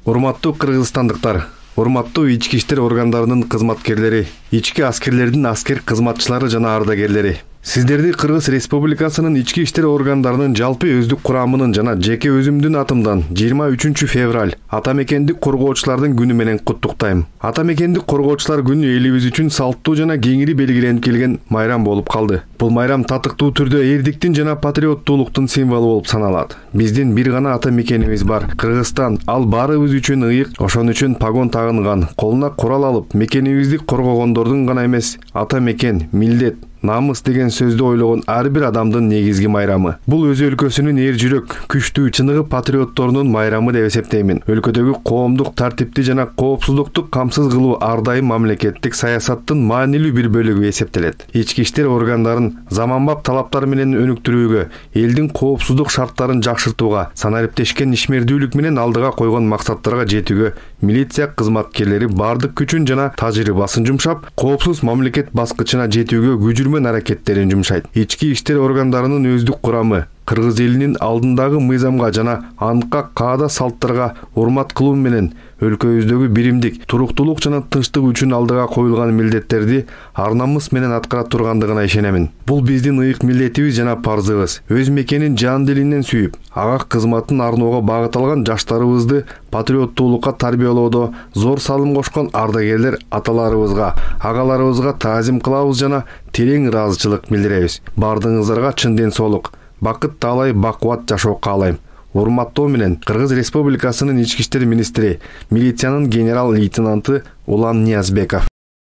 Урматтуу кыргызстандыктар, урматтуу ички иштер органдарынын кызматкерлери, ички аскерлердин аскер кызматчылары жана ардагерлери. Сиздерди Кыргыз Республикасынын ички иштер органдарынын жалпы өздүк курамынын жана жеке өзүмдүн атымдан 23 февраль ата мекендик коргоочулардын күнү менен куттуктайм. Ата мекендик коргоочулар күнү элибиз үчүн салттуу жана кеңири белгиленип келген майрам болуп калды. Бул майрам татыктуу түрдө эрдиктин жана патриоттуулуктун символу болуп саналат. Биздин бир гана ата мекенибиз бар, Кыргызстан. Ал баарыбыз үчүн ыйык, ошон үчүн погон тагынган, колуна курал алып, мекенибизди коргогондордун гана эмес, ата мекен, милдет, намыс деген сөздү ойлогон ар бир адамдын негизги майрамы. Бул өз өлкөсүнүн эр жүрөк, күчтүү, чыныгы патриотторунун майрамы деп эсептеймин. Өлкөдөгү коомдук тартипти жана коопсуздукту камсыз кылуу ар дайым мамлекеттик саясаттын маанилүү бир бөлүгү эсептелет. Ички иштер органдарын заманбап талаптар менен өнүктүрүүгө, элдин коопсуздук шарттарын жакшыртууга, санариптешкен ишмердүүлүк менен алдыга койгон максаттарга жетүүгө милиция кызматкерлери бардык күчүн жана тажрыйбасын жумшап, коопсуз мамлекет баскычына жетүүгө күжүрмөн аракеттерин жумшайт. Ички иштер органдарынын өздүк курамы кыргыз элинин алдындагы мыйзамга жана антка каада салттарга урмат кылуу менен өлкөбүздөгү биримдик, туруктуулук жана тынчтык үчүн алдыга коюлган милдеттерди ар намыс менен аткара тургандыгына ишенемин. Бул биздин ыйык милдетибиз жана парзыбыз. Өз мекенин жан дилинен сүйүп, ага кызматын арноого багыт алган жаштарыбызды патриоттуулукка тарбиялоодо зор салым кошкон ардагерлер аталарыбызга, агаларыбызга таазим кылабыз жана терең ыраазычылык билдиребиз. Бардыгыңыздарга чын ден соолук, бакыт таалай бакубат жашоо каалайм. Урматтоо менен Кыргыз Республикасынын ички иштер министри, милициянын генерал-лейтенанты Улан Ниязбеков.